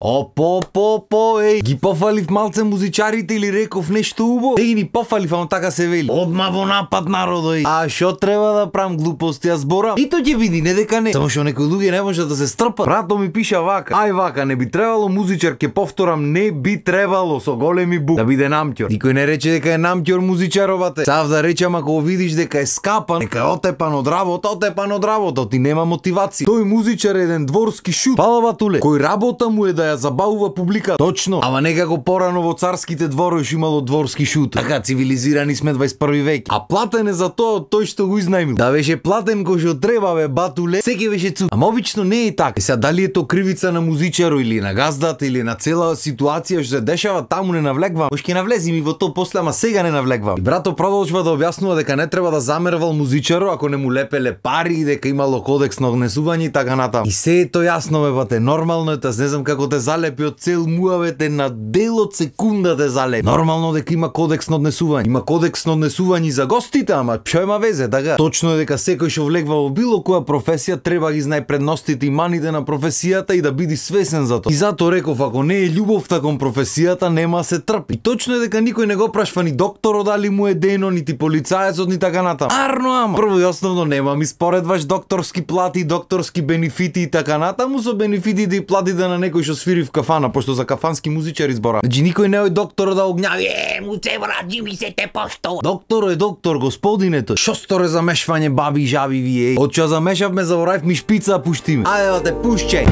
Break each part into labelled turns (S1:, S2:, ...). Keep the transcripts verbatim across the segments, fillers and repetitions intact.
S1: Опо, по, по, еј, ги пофалив малце музичарите или реков нешто убаво? Еј, ни пофалив, ама така се вели. Одма во напад народо, еј. А шо треба да правам глупости, ја зборам? И то ќе види, не дека не. Само што некои луѓе не може да се стрпат. Брато ми пиша вака. Ај вака, не би требало музичар, ќе повторам, не би требало со големи бук да биде намќор. Никој не рече дека е намќор музичаровате. Сав да речам ако видиш дека е скапан, дека е отепан од работа, отепан од работа, ти нема мотивација. Тој музичар е еден дворски шут. Пала батуле, кој работа му е да ја забавува публика. Точно. Ама некако порано во царските дворови имало дворски шут. Така цивилизирани сме дваесет и први век. А платен е за тоа тој што го изнајмил. Да беше платен кој што треба бе батуле, секи беше цук. Ама обично не е така. Е сега дали е то кривица на музичаро или на газдата или на цела ситуација што се дешава таму не навлегвам. Кој ќе навлезем и во тоа после, ама сега не навлегвам. И брато продолжува да објаснува дека не треба да замервал музичаро ако не му лепеле пари, дека имало кодекс на однесување и така натаму. И се е тоа јасно бе бате, нормално е, таз не знам како те залепи од цел муавете на дел од секунда те залепи. Нормално дека има кодекс на однесување. Има кодекс на однесување за гостите, ама што има везе, така? Точно е дека секој што влегва во било која професија треба ги знае предностите и маните на професијата и да биде свесен за тоа. И затоа реков, ако не е љубовта кон професијата, нема се трпи. И точно е дека никој не го прашва ни докторот дали му е дено, нити полицаецот, ни така натаму. Арно ама. Прво и основно нема ми споредваш докторски плати, докторски бенефити и така натаму со бенефитите и платите на некој што свири в кафана, пошто за кафански музичари збора. Значи никој не е доктор да огњави, е, му се враđи ми се те пошто. Доктор е доктор, господине тој. Шо сторе замешвање баби и жаби вие? Од што замешавме, заборавив ми шпица, пушти ме. Ајде, те пушчај.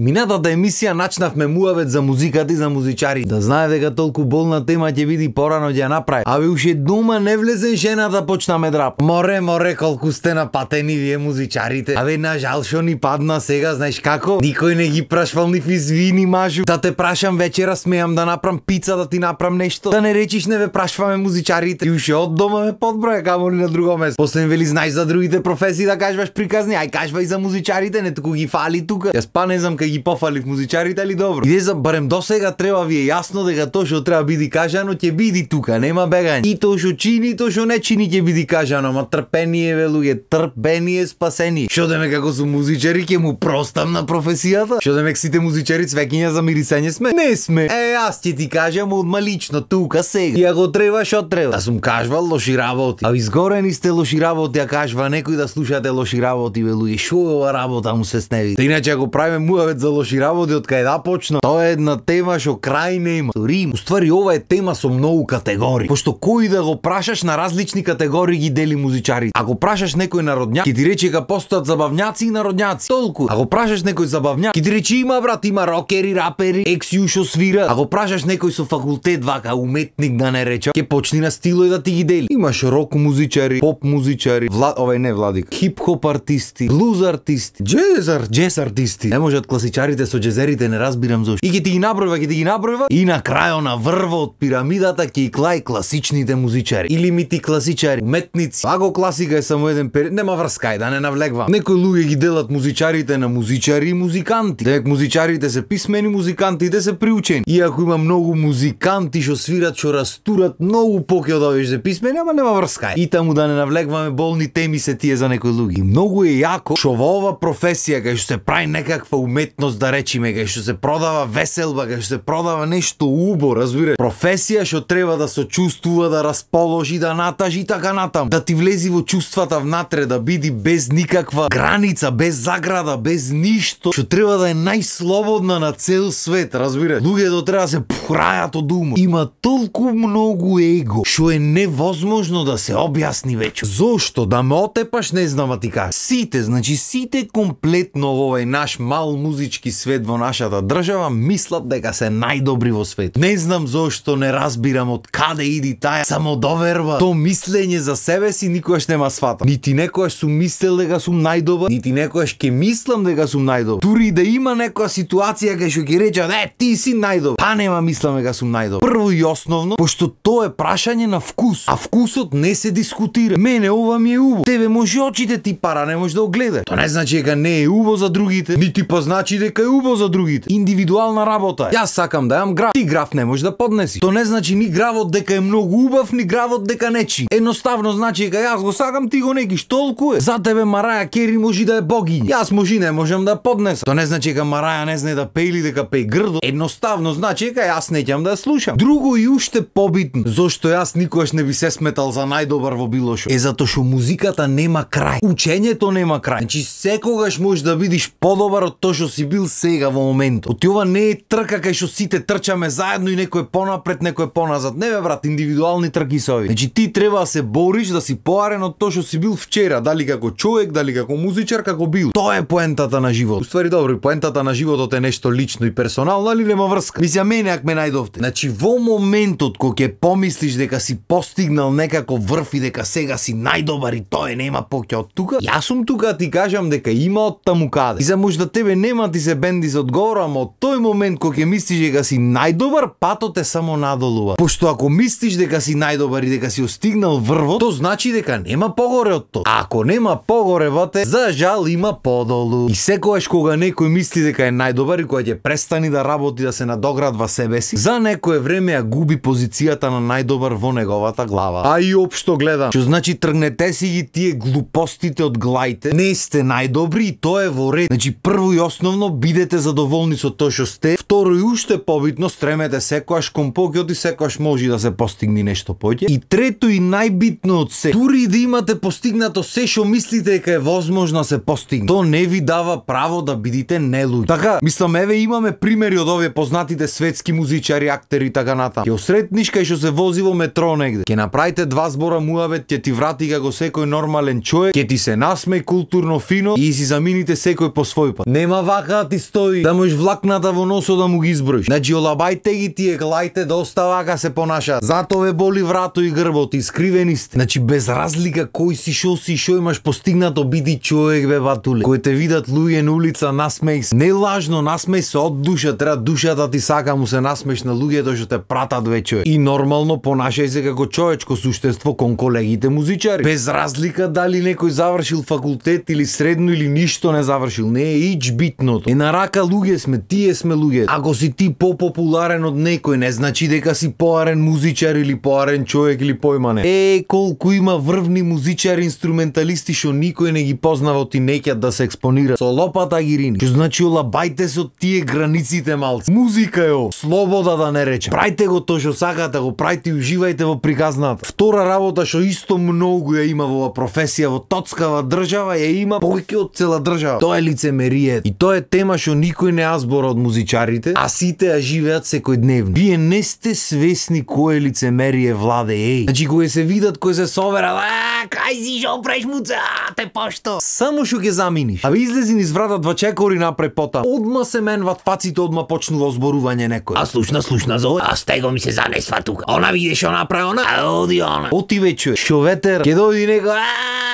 S1: Минатата емисија начнавме муавет за музиката и за музичари. Да знае дека толку болна тема ќе биде порано ќе ја направи. Абе уште дома не влезен жена да почнаме драп. Море, море, колку сте напатени вие музичарите. Абе на жал шо ни падна сега, знаеш како? Никој не ги прашвал ни извини мажу. Да те прашам вечера смеам да направам пица, да ти направам нешто. Да не речиш не ве прашваме музичарите. И уште од дома ме подброја, камо ли на друго место. После вели знаеш за другите професии да кажваш приказни, ај кажвај за музичарите, не туку ги фали тука. Јас па не знам кај ги пофалив музичарите, али добро. Иде за барем до сега треба ви е јасно дека тоа што треба биде кажано ќе биде тука, нема бегање. И тоа што чини, тоа што не чини ќе биде кажано, ама трпение бе луѓе, трпение спасение. Што деме како су музичари ќе му простам на професијата? Што деме сите музичари цвеќиња за мирисање сме? Не сме. Е, јас ќе ти кажам одма лично тука сега. И ако треба, што треба? Да сум кажвал лоши работи. А изгорени сте лоши работи, а кажва некој да слушате лоши работи бе луѓе. Шо е ова работа му се сневи? Та иначе ако правиме муавет за лоши работи од кај да почна, тоа е една тема што крај нема. Рим. Уствари ова е тема со многу категории. Пошто кој да го прашаш на различни категории ги дели музичари. Ако прашаш некој народњак, ќе ти рече дека постојат забавњаци и народњаци. Толку. Ако прашаш некој забавњак, ќе ти рече има брат, има рокери, рапери, екс-ю што свира. Ако прашаш некој со факултет вака уметник да не рече, ќе почни на стилој да ти ги дели. Имаш рок музичари, поп музичари, вла... овај не владик, хип-хоп артисти, блуз артисти, джез, джез артисти. Не можат класичарите со джезерите, не разбирам зошто. И ќе ти ги набројва, ќе ти ги набројва и на крајот на врво од пирамидата ќе и клај класичните музичари. Или мити класичари, уметници. Ако класика е само еден период, нема врска, ај да не навлегвам. Некои луѓе ги делат музичарите на музичари и музиканти. Дека музичарите се писмени, музикантите се приучени. Иако има многу музиканти што свират, што растурат многу поќе од овие што се писмени, ама нема врска. И таму да не навлегваме болни теми се тие за некои луѓе. И многу е јако што во ова професија кај што се прави некаква уметност да речиме, кај што се продава веселба, кај што се продава нешто убо, разбираш? Професија што треба да се чувствува, да расположи, да натажи така натам, да ти влези во чувствата внатре, да биде без никаква граница, без заграда, без ништо, што треба да е најслободна на цел свет, разбираш? Луѓето треба да се порајат од умот. Има толку многу его, што е невозможно да се објасни веќе. Зошто? Да ме отепаш, не знам да ти кажам. Сите, значи сите комплетно во овој наш мал музички свет во нашата држава мислат дека се најдобри во свет. Не знам зошто, не разбирам од каде иди таа самодоверба. То мислење за себе си никогаш нема свата. Нити некогаш сум мислел дека сум најдобар, нити некогаш ќе мислам дека сум најдобар. Дури да има некоја ситуација кај што ќе речат, е, ти си најдобар, па нема мислам дека сум најдобар. Прво и основно, пошто тоа е прашање на вкус, а вкусот не се дискутира. Мене ова ми е убаво. Тебе може очите ти пара не може да го гледа. Тоа не значи дека не е убаво за другите, нити па значи дека дека е убаво за другите. Индивидуална работа е. Јас сакам да јам грав, ти грав не можеш да поднеси. То не значи ни гравот дека е многу убав, ни гравот дека нечи. Едноставно значи дека јас го сакам, ти го некиш, толку е. За тебе Мараја Кери може да е богиња. Јас може не можам да поднесам. То не значи дека Мараја не знае да пее или дека пее грдо. Едноставно значи дека јас не ќам да ја слушам. Друго и уште побитно, зошто јас никогаш не би се сметал за најдобар во било што, е затоа што музиката нема крај. Учењето нема крај. Значи секогаш можеш да бидиш подобар од тоа што си бил сега во моментот. Оти ова не е трка кај што сите трчаме заедно и некој понапред, некој поназад. Не бе брат, индивидуални трки се ови. Значи ти треба да се бориш да си поарен од тоа што си бил вчера, дали како човек, дали како музичар, како бил. Тоа е поентата на животот. Уствари добро, поентата на животот е нешто лично и персонално, али нема врска. Мислам мене ако ме најдовте. Значи во моментот кога ќе помислиш дека си постигнал некако врв и дека сега си најдобар и тоа е нема поќе од тука, јас сум тука да ти кажам дека има од таму каде. И за можда тебе нема ти се бенди за одговор, ама од тој момент кога ќе мислиш дека си најдобар, патот е само надолу. Пошто ако мислиш дека си најдобар и дека си остигнал врвот, то значи дека нема погоре од тоа. А ако нема погоре вате, за жал има подолу. И секогаш кога некој мисли дека е најдобар и кога ќе престани да работи да се надоградва себе си, за некое време ја губи позицијата на најдобар во неговата глава. А и општо гледам, што значи тргнете си ги тие глупостите од глаите, не сте најдобри и тоа е во ред. Значи прво и основно бидете задоволни со тоа што сте, второ и уште побитно стремете секогаш кон поќот и секогаш може да се постигне нешто поќе. И трето и најбитно од се, дури да имате постигнато се што мислите дека е возможно да се постигне, то не ви дава право да бидите нелуѓи. Така, мислам еве имаме примери од овие познатите светски музичари, актери и така натаму. Ќе осретниш кај што се вози во метро негде, ќе направите два збора муавет, ќе ти врати како секој нормален човек, ќе ти се насмеј културно фино и си замините секој по свој пат. Нема вака да ти стои да можеш влакната во носот да му ги изброиш. Значи олабајте ги тие глаите доста вака се понашаат. Зато ве боли врато и грбот, искривени сте. Значи без разлика кој си, шо си, шо имаш постигнато, биди човек бе батуле. Кој те видат луѓе на улица, насмеј се. Не лажно, насмеј се од душа, треба душата ти сака му се насмееш на луѓето што те пратат ве човек. И нормално понашај се како човечко суштество кон колегите музичари. Без разлика дали некој завршил факултет или средно или ништо не завршил, не е ич битното. Е на рака луѓе сме, тие сме луѓе. Ако си ти попопуларен од некој, не значи дека си поарен музичар или поарен човек или појмане. Е, колку има врвни музичари, инструменталисти што никој не ги познава, ти неќат да се експонира со лопата ги рини. Што значи олабајте се од тие границите малци. Музика е о, слобода да не речем. Прајте го тоа што сакате, го прајте и уживајте во приказната. Втора работа што исто многу ја има во професија во тоцкава држава, ја има повеќе од цела држава. Тоа е лицемерие. И тоа е тема што никој не ја збора од музичарите, а сите ја живеат секојдневно. Вие не сте свесни кое лицемерие владе, еј. Значи кога се видат, кој се соверат, а кај си шо правиш муца, те пошто. Само што ќе заминиш. А ви излези низ врата два чекори напред пота. Одма се менват фаците, одма почнува озборување некој.
S2: А слушна, слушна зове, а стего ми се занесва тука. Она видиш што направи она, а оди она.
S1: Оти вече, шо ветер, ќе дојди некој,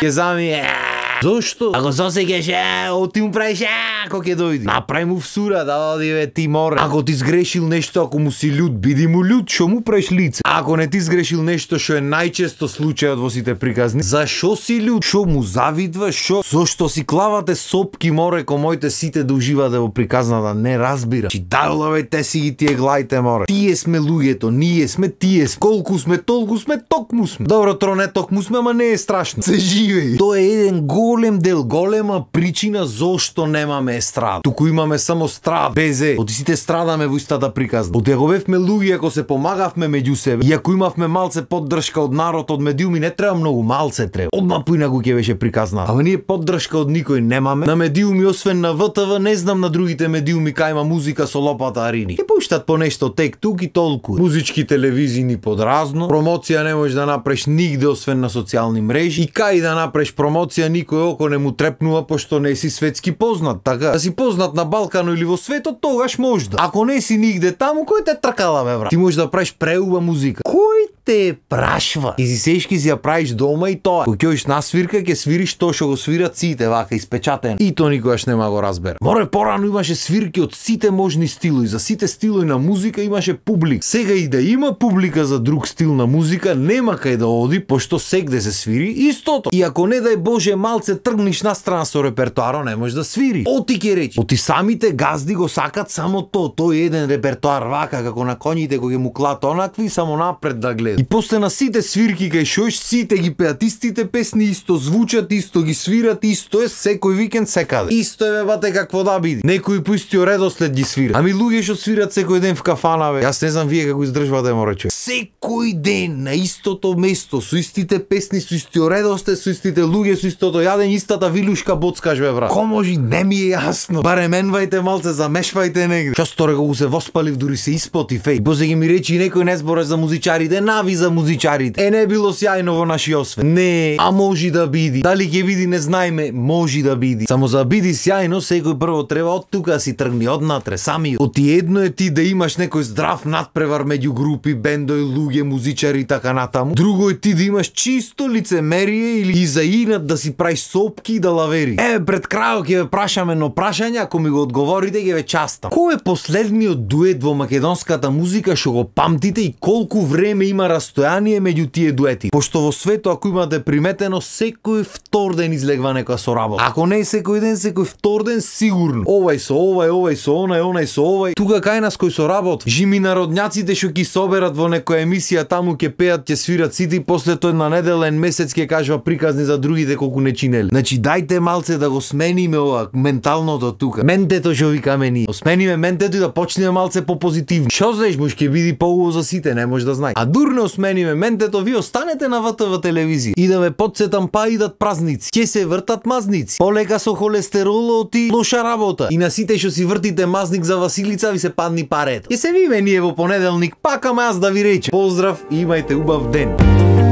S1: ќе зами. Зошто?
S2: Ако засекеш,
S1: оти му правиш, ако ќе дојди. Направи му всура, да оди бе ти море. Ако ти сгрешил нешто, ако му си лют, биди му лют, шо му правиш лице. Ако не ти сгрешил нешто што е најчесто случајот во сите приказни, зашо си лют? Шо му завидваш? Шо? Зошто си клавате сопки море ко моите сите да уживате во приказната? Не разбира. Чи дайлаве те си ги тие глаите море. Тие сме луѓето, ние сме тие. Колку сме, толку сме, токму сме. Добро, тро не токму сме, ама не е страшно. Се живеј. Тоа е еден голем дел, голема причина зошто немаме естрада. Туку имаме само страд, безе. Оти сите страдаме во истата приказна. Оти ако бевме луѓе, ако се помагавме меѓу себе, и ако имавме малце поддршка од народ, од медиуми, не треба многу, малце треба. Одма поинаку ќе беше приказна. Ама ние поддршка од никој немаме. На медиуми, освен на В Т В, не знам на другите медиуми кај има музика со лопата арини. Ќе пуштат по нешто тек тук и толку. Музички телевизии ни подразно. Промоција не можеш да направиш нигде освен на социјални мрежи. И кај да направиш промоција никој око не му трепнува пошто не си светски познат, така? Да си познат на Балкано или во светот, тогаш може да. Ако не си нигде таму, кој те тркала бе брат? Ти можеш да правиш преуба музика. Кој те прашва? Ти си сешки си ја правиш дома и тоа. Кога ќе на свирка, ќе свириш тоа што го свират сите вака испечатено. И тоа никогаш нема го разбера. Море порано имаше свирки од сите можни стилови, за сите стилови на музика имаше публик. Сега и да има публика за друг стил на музика, нема кај да оди, пошто сегде се свири истото. И ако не дај Боже малце малце тргниш на страна со репертоарот, не можеш да свири. Оти ќе речи. Оти самите газди го сакат само то, тој еден репертоар вака како на коњите кои му клат онакви само напред да гледа. И после на сите свирки кај шош сите ги пеат истите песни, исто звучат, исто ги свират, исто е секој викенд секаде. Исто е бате какво да биде. Некои по истиот редослед ги свират. Ами луѓе што свират секој ден в кафана бе. Јас не знам вие како издржувате мо рече. Секој ден на истото место со истите песни, со истиот редослед, со истите луѓе, со истото јадење, истата вилушка боцкаш бе брат. Ко може не ми е јасно. Барем менвајте малце, замешвајте негде. Што сторе кога се воспалив дури се испоти феј. После ги ми речи некој не збореш за музичарите, нави за музичарите. Е не било сјајно во наши освет. Не, а може да биди. Дали ќе биди не знаеме, може да биди. Само за биди сјајно секој прво треба од тука си тргни однатре сами. Оти едно е ти да имаш некој здрав надпревар меѓу групи, бендои, луѓе, музичари и така натаму. Друго е ти да имаш чисто лицемерие или и за инат да си правиш сопки и да лавери. Е, пред крајот ќе ве прашаме но прашање, ако ми го одговорите ќе ве частам. Кој е последниот дует во македонската музика што го памтите и колку време има растојание меѓу тие дуети? Пошто во свето, ако имате приметено, секој втор ден излегва некоја соработа. Ако не е секој ден, секој втор ден сигурно. Овај со овај, овај со онај, онај со овај. Тука кај нас кој соработи. Жими народњаците што ги соберат во некоја емисија таму ќе пеат, ќе свират сите, после тој на неделен месец ќе кажува приказни за другите колку не чинели. Значи дајте малце да го смениме ова менталното тука. Ментето што викаме ние. Смениме ментето и да почнеме малце попозитивни. Што знаеш, може ќе биде поубаво за сите, не може да знаеш. А дурно смениме ментето, ви останете на В Т В телевизија. И да ме потсетам, па идат празници. Ќе се вртат мазници. Полека со холестеролот и лоша работа. И на сите што си вртите мазник за Василица ви се падни парето. Ќе се видиме ние во понеделник, пак ама јас да ви речем. Поздрав и имајте убав ден.